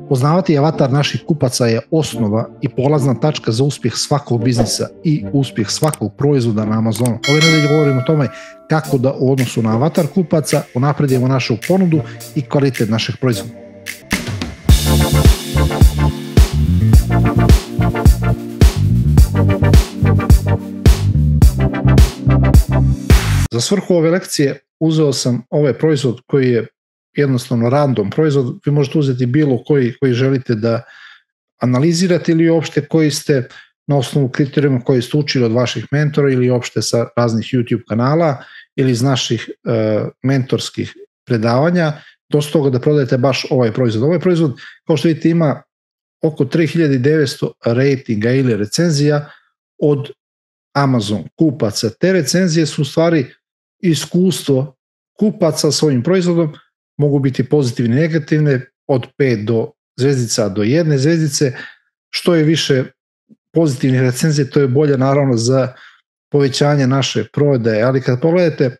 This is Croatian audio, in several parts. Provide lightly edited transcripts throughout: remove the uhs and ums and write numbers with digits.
Poznavati avatar naših kupaca je osnova i polazna tačka za uspjeh svakog biznisa i uspjeh svakog proizvoda na Amazonu. Ove nedelje govorimo o tome kako da u odnosu na avatar kupaca unapredimo našu ponudu i kvalitet našeg proizvoda. Za svrhu ove lekcije uzeo sam ovaj proizvod koji je jednostavno random proizvod. Vi možete uzeti bilo koji želite da analizirate ili uopšte koji ste na osnovu kriterijuma koji ste učili od vaših mentora ili uopšte sa raznih YouTube kanala ili iz naših mentorskih predavanja, do toga da prodajete baš ovaj proizvod. Ovaj proizvod, kao što vidite, ima oko 3900 ratinga ili recenzija od Amazon kupaca. Te recenzije su u stvari iskustvo kupaca s ovim proizvodom, mogu biti pozitivne i negativne, od 5 do zvezdica do 1 zvezdice. Što je više pozitivnih recenzija, to je bolje naravno za povećanje naše prodaje, ali kad pogledate,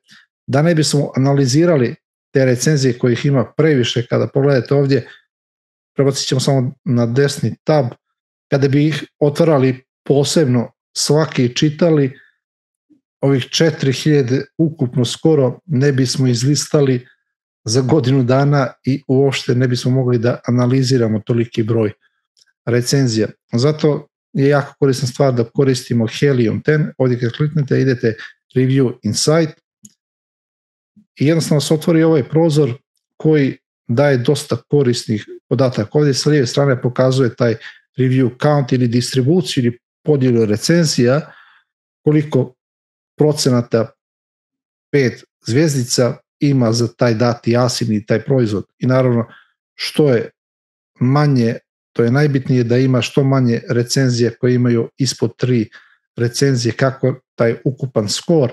da ne bismo analizirali te recenzije kojih ima previše, kada pogledate ovdje, prebacit ćemo samo na desni tab, kada bi ih otvarali posebno, svaki čitali, ovih 4000 ukupno skoro ne bismo izlistali za godinu dana i uopšte ne bismo mogli da analiziramo toliki broj recenzija. Zato je jako korisna stvar da koristimo Helium 10. Ovdje kad kliknete idete Review Insight i jednostavno se otvori ovaj prozor koji daje dosta korisnih podataka. Ovdje sa lijeve strane pokazuje taj review count ili distribuciju ili podjelu recenzija, koliko procenata 5 zvjezdica ima za taj dati asin i taj proizvod. I naravno, što je manje, to je najbitnije da ima što manje recenzije koje imaju ispod 3 recenzije, kako taj ukupan skor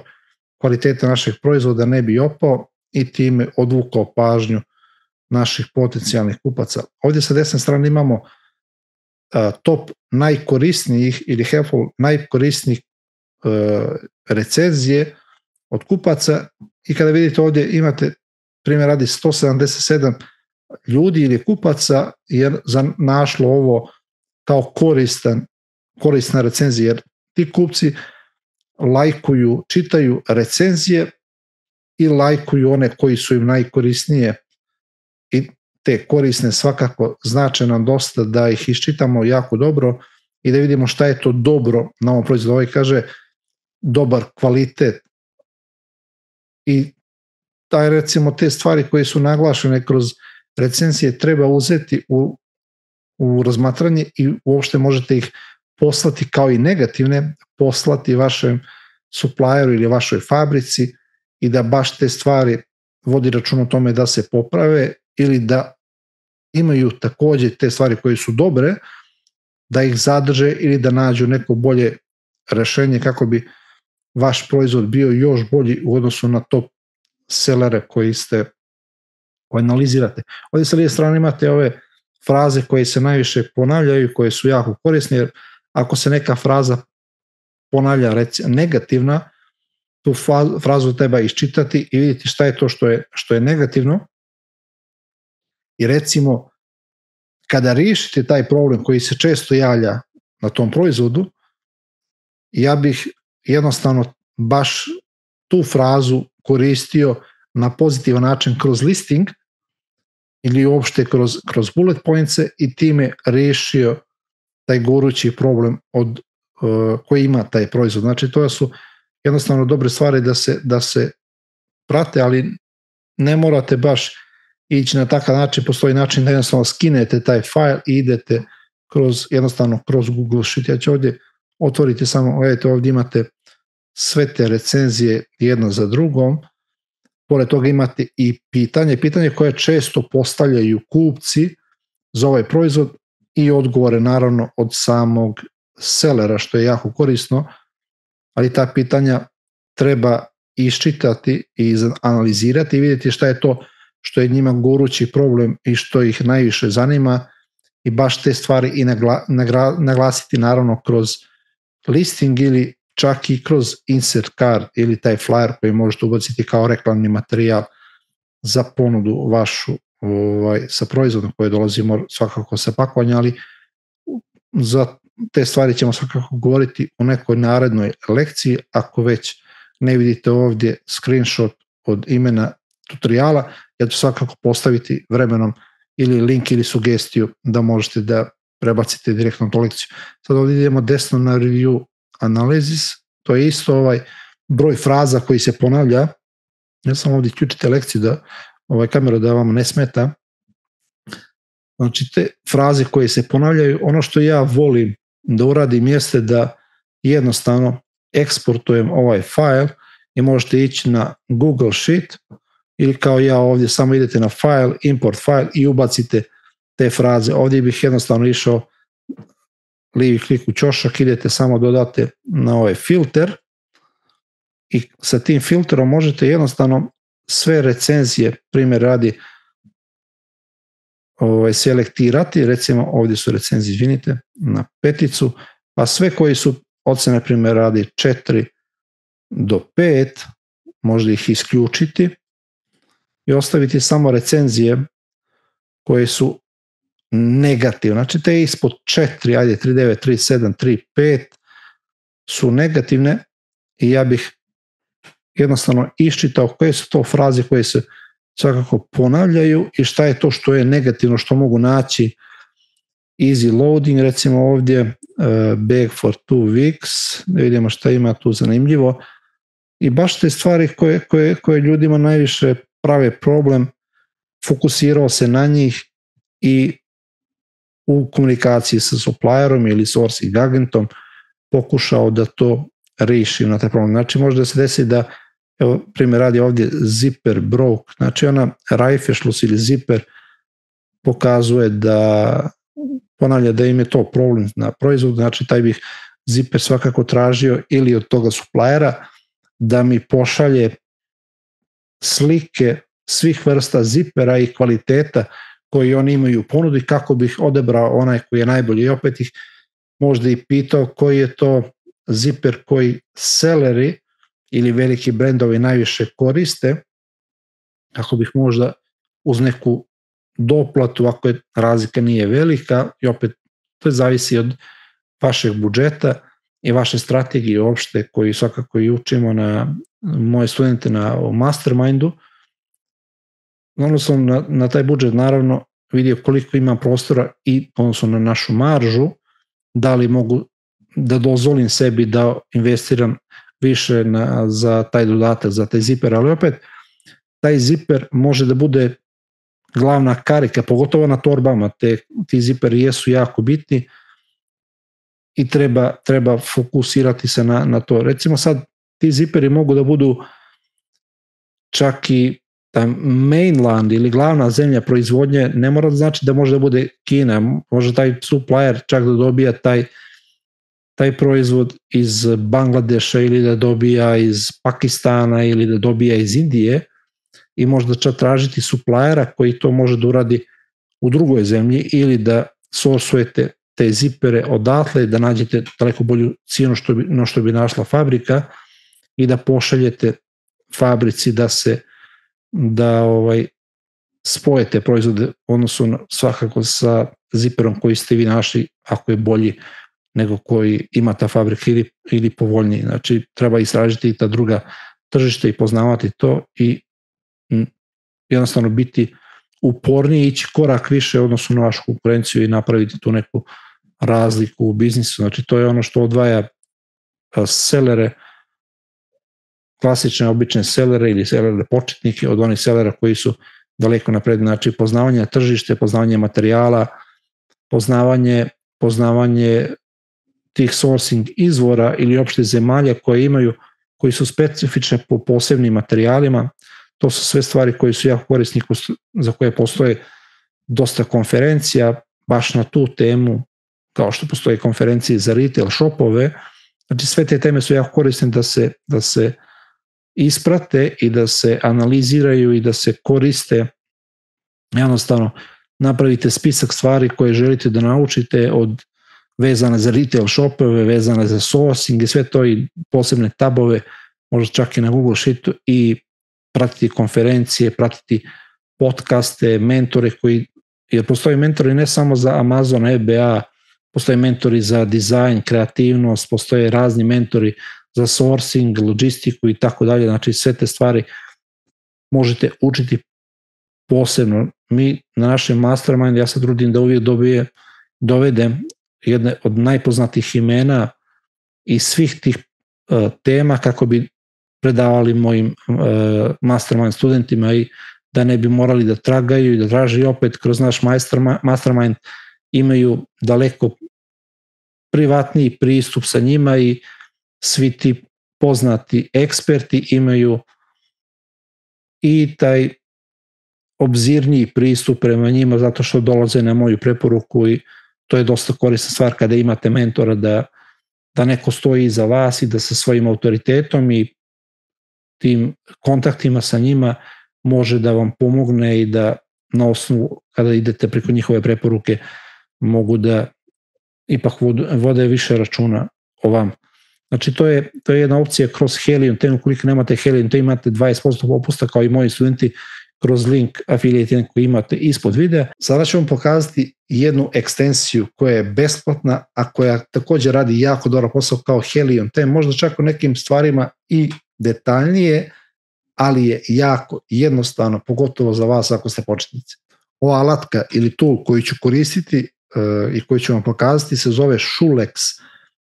kvaliteta našeg proizvoda ne bi opao i time odvukao pažnju naših potencijalnih kupaca. Ovdje sa desne strane imamo top najkorisnijih ili helpful najkorisnijih recenzije od kupaca i kada vidite ovdje imate primjer radi 177 ljudi ili kupaca je našlo ovo kao korisna recenzija, jer ti kupci lajkuju, čitaju recenzije i lajkuju one koji su im najkorisnije i te korisne svakako znače nam dosta da ih iščitamo jako dobro i da vidimo šta je to dobro na ovom proizvodu. Ovaj kaže dobar kvalitet i taj, recimo, te stvari koje su naglašene kroz recenzije treba uzeti u razmatranje i uopšte možete ih poslati kao i negativne, poslati vašem supplieru ili vašoj fabrici i da baš te stvari vodi račun o tome da se poprave ili da imaju također te stvari koje su dobre, da ih zadrže ili da nađu neko bolje rešenje kako bi vaš proizvod bio još bolji u odnosu na top sellere koji analizirate. Ovdje sa lijeve strane imate ove fraze koje se najviše ponavljaju, koje su jako korisne, jer ako se neka fraza ponavlja negativna, tu frazu treba iščitati i vidjeti šta je to što je negativno. I recimo, kada riješite taj problem koji se često javlja na tom proizvodu, ja bih jednostavno baš tu frazu koristio na pozitivan način kroz listing ili uopšte kroz bullet pointse i time riješio taj gorući problem koji ima taj proizvod. Znači, to su jednostavno dobre stvari da se prate, ali ne morate baš ići na takav način. Postoji način da jednostavno skinete taj file i idete jednostavno kroz Google Sheet. Ja ću ovdje otvoriti samo, gledajte, ovdje imate sve te recenzije jedna za drugom. Pored toga imate i pitanje koje često postavljaju kupci za ovaj proizvod i odgovore naravno od samog sellera, što je jako korisno, ali ta pitanja treba iščitati i analizirati i vidjeti šta je to što je njima gorući problem i što ih najviše zanima i baš te stvari i naglasiti naravno kroz listing ili čak i kroz insert card ili taj flyer koji možete ubaciti kao reklamni materijal za ponudu vašu sa proizvodom koje dolazimo svakako sa pakovanja, ali za te stvari ćemo svakako govoriti u nekoj narednoj lekciji. Ako već ne vidite ovdje screenshot od imena tutoriala, ja ću svakako postaviti vremenom ili link ili sugestiju da možete da prebacite direktno na tu lekciju. Sad ovdje idemo desno na review analysis, to je isto broj fraza koji se ponavlja. Ja sam ovdje ključite lekciju da kamera da vam ne smeta. Znači te fraze koje se ponavljaju, ono što ja volim da uradim jeste da jednostavno eksportujem ovaj file i možete ići na Google Sheet ili kao ja ovdje samo idete na file, import file i ubacite te fraze. Ovdje bih jednostavno išao lijevi klik u ćošak, idete samo dodate na ovaj filter i sa tim filterom možete jednostavno sve recenzije, primjer radi, selektirati, recimo ovdje su recenzije, izvinite, na 5, pa sve koji su ocene, primjer radi 4 do 5, možda ih isključiti i ostaviti samo recenzije koje su negativne. Znači te ispod 4, ajde 3.9, 3.7, 3.5 su negativne i ja bih jednostavno iščitao koje su to fraze koje se svakako ponavljaju i šta je to što je negativno, što mogu naći. Easy loading, recimo ovdje, bag for 2 weeks, da vidimo šta ima tu zanimljivo. I baš te stvari koje ljudima najviše prave problem, fokusirao se na njih i u komunikaciji sa supplierom ili sourcing agentom pokušao da to riješi na taj problem. Znači može da se desi da, evo primjer radi ovdje zipper broke, znači ona Reißverschluss ili zipper pokazuje da ponavlja da im je to problem na proizvodu, znači taj bih zipper svakako tražio ili od toga suppliera da mi pošalje slike svih vrsta zipera i kvaliteta koji oni imaju u ponudi kako bih odebrao onaj koji je najbolji i opet ih možda i pitao koji je to ziper koji seleri ili veliki brendovi najviše koriste, kako bih možda uz neku doplatu, ako je razlika nije velika, i opet to zavisi od vašeg budžeta i vaše strategije uopšte koji svakako i učimo na moje studente na mastermindu. Ono sam na taj budžet naravno vidio koliko ima prostora i odnosno na našu maržu, da li mogu da dozvolim sebi da investiram više za taj dodatak, za taj ziper, ali opet taj ziper može da bude glavna karika, pogotovo na torbama, ti ziperi jesu jako bitni i treba fokusirati se na to. Recimo sad ti ziperi mogu da budu čak i taj mainland ili glavna zemlja proizvodnje, ne mora znači da može da bude Kina, može taj supplier čak da dobija taj proizvod iz Bangladeša ili da dobija iz Pakistana ili da dobija iz Indije i možda čak tražiti suppliera koji to može da uradi u drugoj zemlji ili da sourcujete te zipere odatle, da nađete daleko bolju cijenu što bi našla fabrika i da pošaljete fabrici da spojete proizvode odnosno svakako sa ziperom koji ste vi našli ako je bolji nego koji ima ta fabrika ili povoljniji. Znači treba istražiti i ta druga tržište i poznavati to i jednostavno biti uporniji, ići korak više odnosno na vašu konkurenciju i napraviti tu neku razliku u biznisu. Znači to je ono što odvaja selere, klasične obične selere ili selere početnike od onih selera koji su daleko napred. Znači poznavanje tržište, poznavanje materijala, poznavanje tih sourcing izvora ili opšte zemalja koji su specifične po posebnim materijalima. To su sve stvari koje su jako korisni, za koje postoje dosta konferencija baš na tu temu, kao što postoje konferencije za retail shopove. Znači sve te teme su jako korisne da se isprate i da se analiziraju i da se koriste. Jednostavno napravite spisak stvari koje želite da naučite vezane za retail shopove, vezane za sourcing i sve to i posebne tabove, možda čak i na Google Sheetu i pratiti konferencije, pratiti podcaste, mentore jer postoje mentori ne samo za Amazon, FBA, postoje mentori za dizajn, kreativnost, postoje razni mentori za sourcing, logistiku i tako dalje, znači sve te stvari možete učiti posebno. Mi na našem mastermind, ja se trudim da uvijek dovedem jedne od najpoznatijih imena i svih tih tema kako bi predavali mojim mastermind studentima i da ne bi morali da tragaju i da traži opet kroz naš mastermind imaju daleko privatniji pristup sa njima i svi ti poznati eksperti imaju i taj obzirniji pristup prema njima zato što dolaze na moju preporuku i to je dosta korisna stvar kada imate mentora da neko stoji iza vas i da sa svojim autoritetom i tim kontaktima sa njima može da vam pomogne i da na osnovu kada idete preko njihove preporuke mogu da ipak vode više računa o vam. Znači to je jedna opcija kroz Helium 10, ukoliko nemate Helium 10 imate 20% popusta kao i moji studenti kroz link affiliate koji imate ispod videa. Sada ću vam pokazati jednu ekstenziju koja je besplatna, a koja također radi jako dobar posao kao Helium 10, možda čak u nekim stvarima i detaljnije, ali je jako jednostavno, pogotovo za vas ako ste početnici. Ova alatka ili tool koju ću koristiti i koju ću vam pokazati se zove Shulex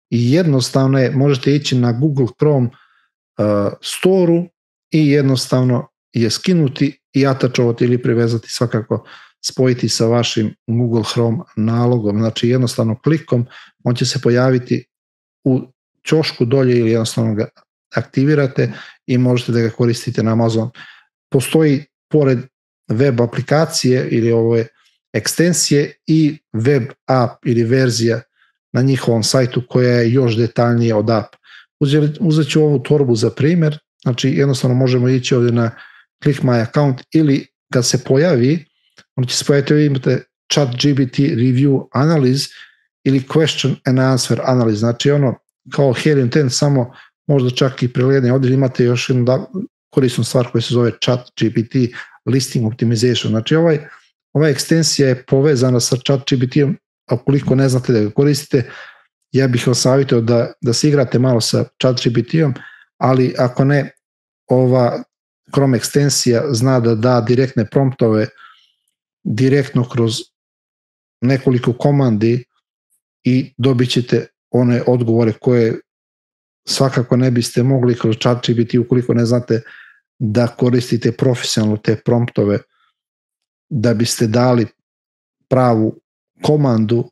i jednostavno je, možete ići na Google Chrome store-u i jednostavno je skinuti i atačovati ili privezati, svakako spojiti sa vašim Google Chrome nalogom. Znači jednostavno klikom on će se pojaviti u ćošku dolje ili jednostavno ga aktivirate i možete da ga koristite na Amazon. Postoji pored web aplikacije ili ove ekstenzije i web app ili verzija na njihovom sajtu koja je još detaljnije od app. Uzet ću ovu torbu za primjer, znači jednostavno možemo ići ovdje na Click My Account ili kad se pojavi, on će se pojaviti, ovdje imate ChatGPT Review Analyze ili Question and Answer Analyze, znači ono kao Helium 10, samo možda čak i preledanje. Ovdje imate još jednu korisnu stvar koja se zove ChatGPT Listing Optimization, znači ova ekstenzija je povezana sa ChatGPT-om, a ukoliko ne znate da ga koristite, ja bih vas savjetio da se igrate malo sa ChatGPT-om, ali ako ne, ova Chrome ekstenzija zna da da direktne promptove direktno kroz nekoliko komandi i dobit ćete one odgovore koje svakako ne biste mogli kroz ChatGPT ukoliko ne znate da koristite profesionalno te promptove da biste dali pravu komandu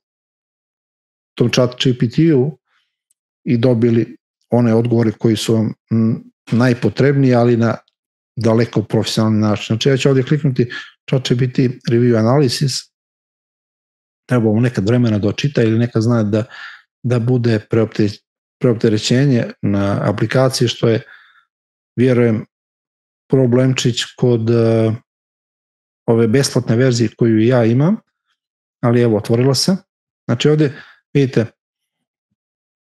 tom ChatGPT-u i dobili one odgovore koji su vam najpotrebniji, ali na daleko profesionalni način. Znači ja ću ovdje kliknuti ChatGPT Review Analysis, treba mu nekad vremena da očita ili nekad zna da bude preopterećenje na aplikaciji, što je, vjerujem, problemčić kod ove besplatne verzije koju ja imam, ali evo, otvorila se. Znači ovdje vidite,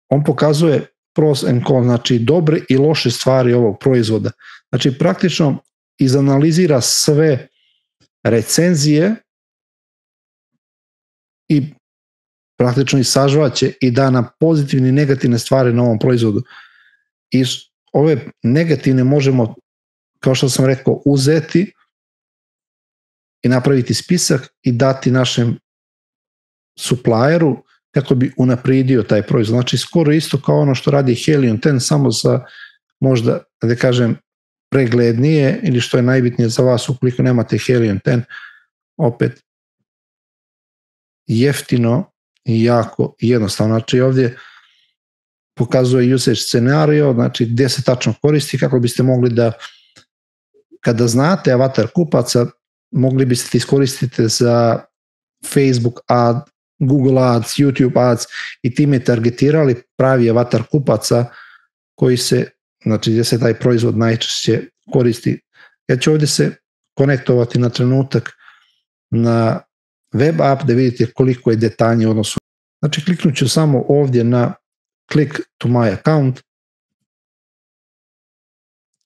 on pokazuje pros and cons, znači dobre i loše stvari ovog proizvoda. Znači praktično izanalizira sve recenzije i praktično i sažvaće i da na pozitivne i negativne stvari na ovom proizvodu. I ove negativne možemo, kao što sam rekao, uzeti i napraviti spisak i dati našem supplieru kako bi unaprijedio taj proizvod. Znači skoro isto kao ono što radi Helium 10, samo sa možda, da kažem, preglednije ili što je najbitnije za vas ukoliko nemate Helium 10, opet jeftino i jako jednostavno. Znači ovdje pokazuje usage scenario, znači gdje se tačno koristi, kako biste mogli da, kada znate avatar kupaca, mogli biste iskoristiti za Facebook ad, Google ads, YouTube ads i time targetirali pravi avatar kupaca koji se, znači gdje se taj proizvod najčešće koristi. Ja ću ovdje se konektovati na trenutak na web app da vidite koliko je detaljnije odnosno. Znači kliknut ću samo ovdje na click to my account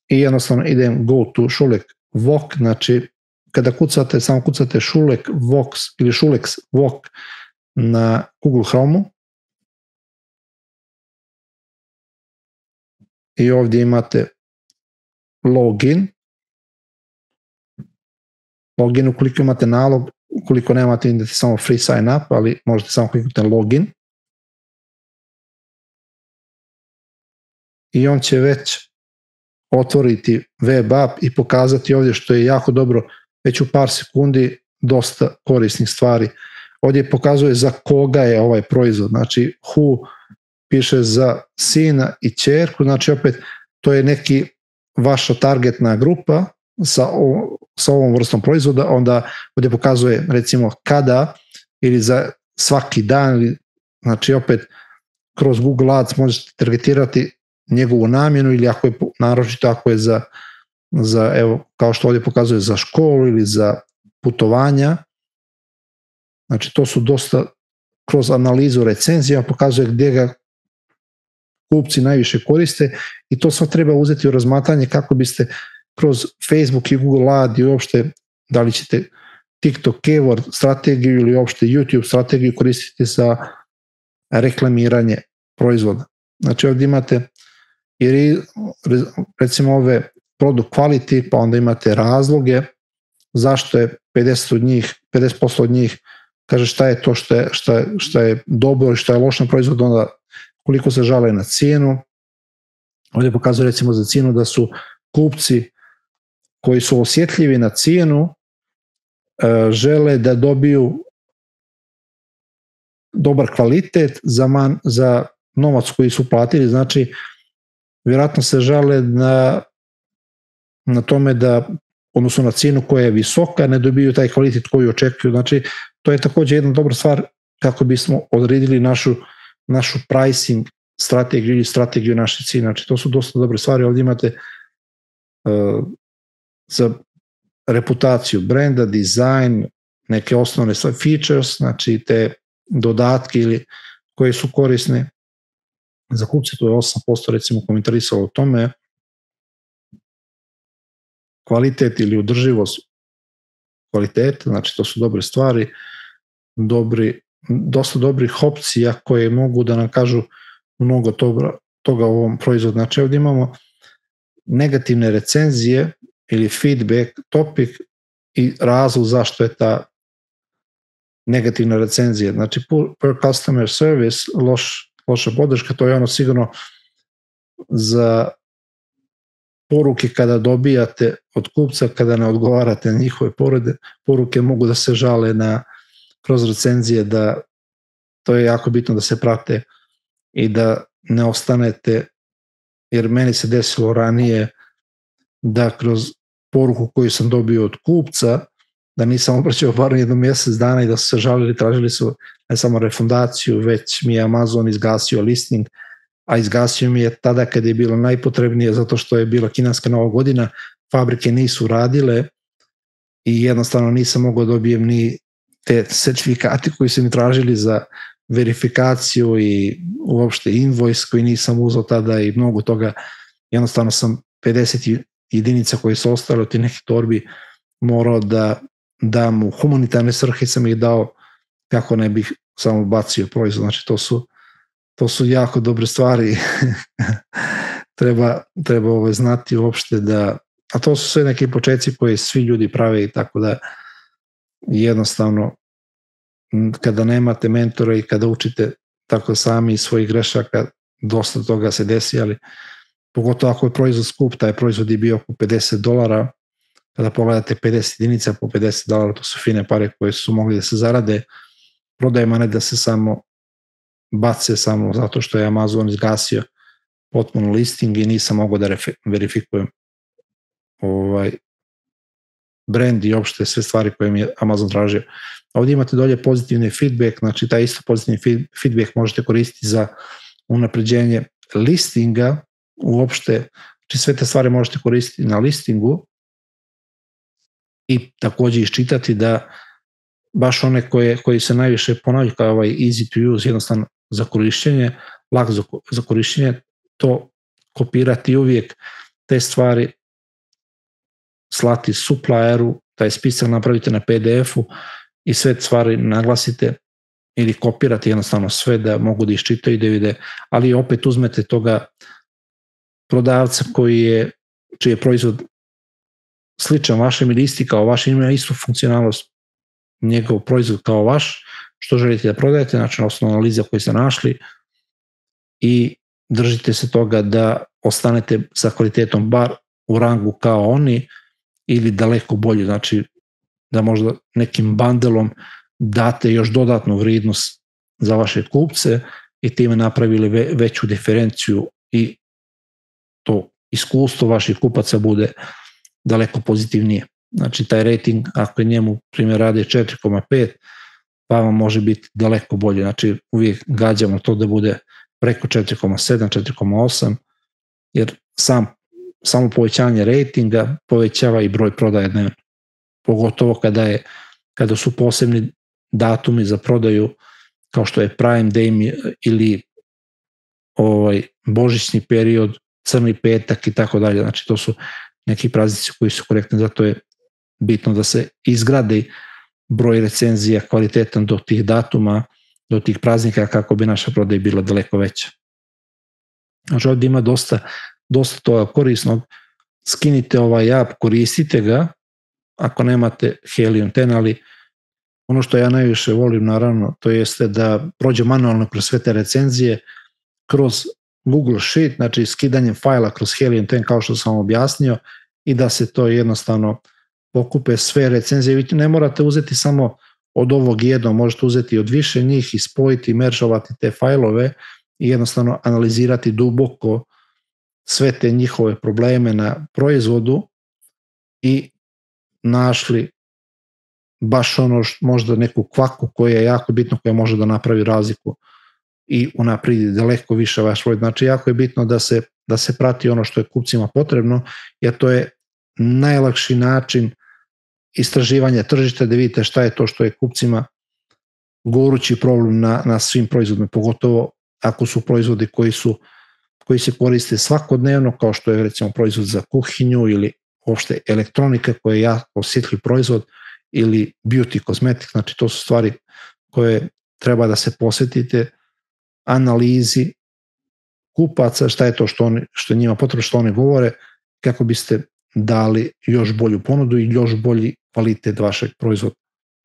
i jednostavno idem go to Shulex Walk, znači kada kucate, samo kucate Schulek Vox ili Schulex Vox na Google Chrome-u i ovdje imate login. Login ukoliko imate nalog, ukoliko nemate idete samo free sign up, ali možete samo kliknuti na login. I on će već otvoriti web app i pokazati ovdje, što je jako dobro, već u par sekundi dosta korisnih stvari. Ovdje pokazuje za koga je ovaj proizvod, znači who piše za sina i ćerku, znači opet to je neki vaša targetna grupa sa ovom vrstom proizvoda, onda ovdje pokazuje recimo kada ili za svaki dan, znači opet kroz Google Ads možete targetirati njegovu namjenu ili ako je naročito ako je za evo kao što ovdje pokazuje za školu ili za putovanja. Znači to su dosta kroz analizu recenzija pokazuje gdje ga kupci najviše koriste i to sve treba uzeti u razmatranje kako biste kroz Facebook i Google Ad i uopšte da li ćete TikTok keyword strategiju ili uopšte YouTube strategiju koristiti za reklamiranje proizvoda. Znači ovdje imate i recimo ove product quality, pa onda imate razloge zašto je 50% od njih kaže šta je to što je dobro i što je loš na proizvodu, onda koliko se žale na cijenu. Ovdje pokazuje recimo za cijenu da su kupci koji su osjetljivi na cijenu žele da dobiju dobar kvalitet za novac koji su platili, znači vjerojatno se žale na tome da odnosno na cijenu koja je visoka ne dobiju taj kvalitet koji očekuju, znači to je također jedna dobra stvar kako bismo odredili našu pricing strategiju ili strategiju naše cijene, znači to su dosta dobre stvari. Ovdje imate za reputaciju brenda, dizajn, neke osnovne features, znači te dodatke ili koje su korisne za kupce, to je 8% recimo komentarisalo o tome. Kvalitet ili održivost kvaliteta, znači to su dobre stvari, dosta dobrih opcija koje mogu da nam kažu mnogo toga u ovom proizvodu. Znači ovdje imamo negativne recenzije ili feedback, topic i razlog zašto je ta negativna recenzija. Znači per customer service, loša podrška, to je ono sigurno za poruke kada dobijate od kupca, kada ne odgovarate na njihove poruke, mogu da se žale kroz recenzije, da to je jako bitno da se prate i da ne ostanete, jer meni se desilo ranije da kroz poruku koju sam dobio od kupca, da nisam obraćao bar jedno mjesec dana i da su se žalili, tražili su ne samo refundaciju, već mi je Amazon izgasio listing, a izgasio mi je tada kad je bilo najpotrebnije zato što je bila kineska nova godina, fabrike nisu radile i jednostavno nisam mogao dobijem ni te certifikate koji su mi tražili za verifikaciju i uopšte invoice koji nisam uzeo tada i mnogo toga. Jednostavno sam 50 jedinica koje su ostale od tih nekih torbi morao da dam u humanitarne svrhe, sam ih dao kako ne bih samo bacio proizvod. Znači to su jako dobre stvari. treba znati uopšte da, a to su sve neki početci koje svi ljudi prave i tako da jednostavno kada nemate mentora i kada učite tako sami iz svojih grešaka, dosta toga se desi, ali pogotovo ako je proizvod skup, taj proizvod je bio oko $50, kada pogledate 50 jedinica po $50, to su fine pare koje su mogli da se zarade prodajima, ne da se samo bace samo zato što je Amazon izgasio potpuno listing i nisam mogao da verifikujem brand i uopšte sve stvari koje mi je Amazon tražio. Ovdje imate dolje pozitivni feedback, znači taj isto pozitivni feedback možete koristiti za unapređenje listinga, uopšte, znači sve te stvari možete koristiti na listingu i također iščitati da baš one koji se najviše ponavljaju kao ovaj easy to use, jednostavno za korišćenje, lak za korišćenje, to kopirati uvijek te stvari, slati supplieru taj spisak napravite na PDF-u i sve stvari naglasite ili kopirate jednostavno sve da mogu da iščitaju i da vide, ali opet uzmete toga prodavca čiji je proizvod sličan vašem ili isti kao vaš, ima istu funkcionalnost njegov proizvod kao vaš, što želite da prodajete, znači na osnovu analiza koje ste našli i držite se toga da ostanete sa kvalitetom bar u rangu kao oni ili daleko bolje, znači da možda nekim bandelom date još dodatnu vrijednost za vaše kupce i time napravili veću diferenciju i to iskustvo vaših kupaca bude daleko pozitivnije. Znači taj rating, ako je njemu primjer radi 4,5, pa vam može biti daleko bolje. Znači uvijek gađamo to da bude preko 4,7, 4,8, jer samo povećanje ratinga povećava i broj prodaje dnevno. Pogotovo kada su posebni datumi za prodaju, kao što je Prime Day ili božićni period, crni petak i tako dalje. Znači to su neki praznici koji su korektni, zato je bitno da se izgradi broj recenzija kvalitetan do tih datuma, do tih praznika kako bi naša prodaja bila daleko veća. Znači ovdje ima dosta toga korisnog. Skinite ovaj app, koristite ga ako nemate Helium 10, ali ono što ja najviše volim naravno to jeste da prođe manualno kroz sve te recenzije kroz Google Sheet, znači skidanjem fajla kroz Helium 10 kao što sam objasnio i da se to jednostavno pokupe sve recenzije. Vi ne morate uzeti samo od ovog jednog, možete uzeti od više njih i spojiti, meržovati te fajlove i jednostavno analizirati duboko sve te njihove probleme na proizvodu i našli baš ono možda neku kvaku koja je jako bitno, koja može da napravi razliku i unapredi daleko više vaš proizvod. Znači jako je bitno da se prati ono što je kupcima potrebno, jer to je najlakši način istraživanja tržišta, da vidite šta je to što je kupcima gorući problem na svim proizvodima, pogotovo ako su proizvodi koji se koriste svakodnevno, kao što je recimo proizvod za kuhinju ili uopšte elektronika koja je jako osjetljiv proizvod ili beauty cosmetic, znači to su stvari koje treba da se posvetite analizi kupaca, šta je to što je njima potrebno, što oni govore, kako biste dali još bolju ponudu i još bolji kvalitet vašeg proizvoda.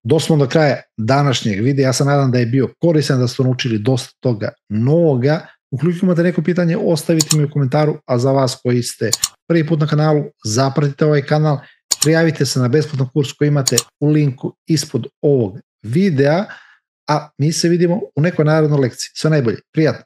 Dosmo do kraja današnjeg videa, ja se nadam da je bio koristan, da ste naučili dosta toga novoga. Ukoliko imate neko pitanje, ostavite mi u komentaru, a za vas koji ste prvi put na kanalu, zapratite ovaj kanal, prijavite se na besplatan kurs koji imate u linku ispod ovog videa, a mi se vidimo u nekoj narednoj lekciji. Sve najbolje, prijatno!